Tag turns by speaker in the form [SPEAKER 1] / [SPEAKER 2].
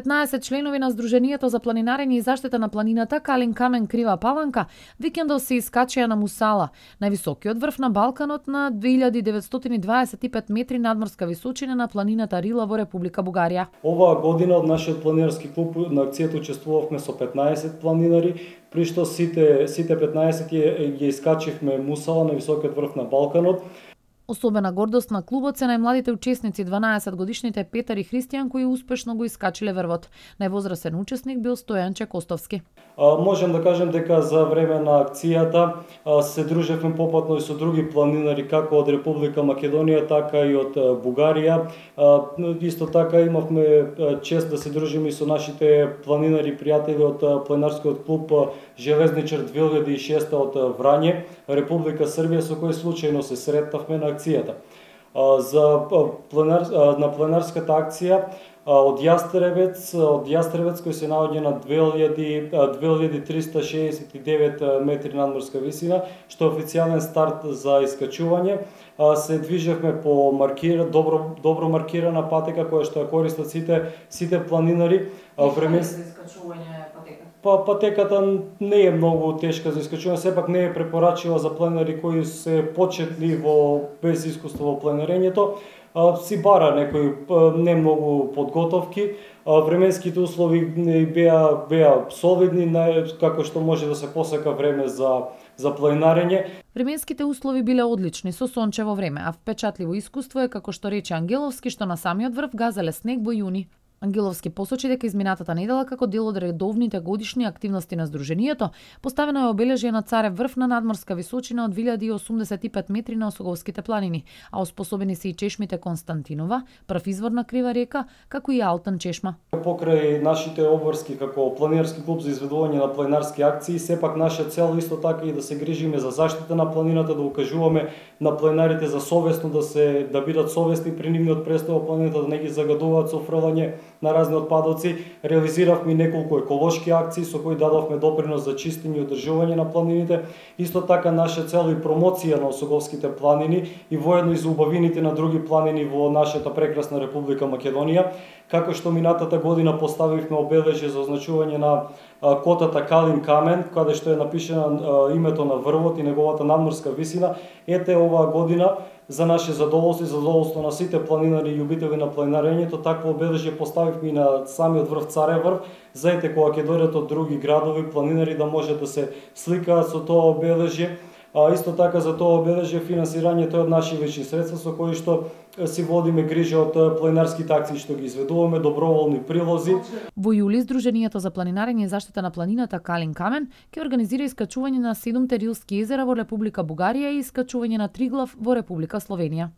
[SPEAKER 1] 15 членови на Сдруженијето за планинарење и заштита на планината Калин Камен Крива Паланка викендов се искачија на Мусала, највисокиот врв на Балканот на 2925 метри надморска височина на планината Рила во Република Бугарија.
[SPEAKER 2] Оваа година од нашиот планинарски клуб на акцијата учествувавме со 15 планинари, при што сите 15 ги искачивме Мусала на високиот врв на Балканот.
[SPEAKER 1] Особена гордост на клубот се најмладите учесници 12 годишните Петар и Христијан кои успешно го искачиле врвот. Највозрасен учесник бил Стојанче Костовски.
[SPEAKER 2] Можем да кажем дека за време на акцијата се дружевме попатно и со други планинари како од Република Македонија, така и од Бугарија. Исто така имавме чест да се дружиме и со нашите планинари пријатели од планинарскиот клуб Железничар 2006 од Врање, Република Србија, со кој случајно се сретнавме на акцијата. На планинарската акција од Јастребец кој се наоѓа на 2369 метри надморска висина, што е официјален старт за искачување. Се движевме по добро маркирана патека која што ја користат сите планинари.
[SPEAKER 1] Време за искачување патека?
[SPEAKER 2] Патеката не е многу тешка за искачување, сепак не е препорачива за планинари кои се почетни без искуство во планинарењето. Си бара некои не многу подготовки. Временските услови беа солидни, како што може да се посака време за планинарење.
[SPEAKER 1] Временските услови биле одлични со сончево време, а впечатливо искуство е како што рече Ангеловски што на самиот врв газеле снег во јуни. Ангеловски посочи дека изминатата недела како дел од редовните годишни активности на Сдруженијето, поставено е обележје на Царев врв на надморска височина од 1085 метри на Осоговските планини, а оспособени се и чешмите Константинова, прв извор на Крива река, како и Алтан чешма.
[SPEAKER 2] Покрај нашите обврски како планинарски клуб за изведување на планинарски акции, сепак наша цел исто така и да се грижиме за заштита на планината, да укажуваме на планинарите за совесно да бидат совесни при нивниот престой во планината, да не ги загадуваат со фрлање на разни отпадоци. Реализиравме неколку еколошки акции со кои дадовме допринос за чистење и одржување на планините. Исто така наша цел и промоција на Осоговските планини и воедно и за убавините на други планини во нашата прекрасна Република Македонија. Како што минатата година поставивме обележје за означување на котата Калин Камен, каде што е напишено името на врвот и неговата надморска висина, ете оваа година за наше задоволство и задоволство на сите планинари и љубители на планинарењето, такво обележје поставивме и на самиот врв Царев врв, за ете кога ќе дојдат од други градови планинари да може да се сликаат со тоа обележје. Исто така за тоа обележје финансирањето е од наши лични средства со кои што си водиме грижа од планинарските акции што ги изведуваме, доброволни прилози.
[SPEAKER 1] Во јули Сдруженијето за планинарење и заштита на планината Калин Камен ќе организира искачување на 7 рилски езера во Република Бугарија и искачување на Триглав во Република Словенија.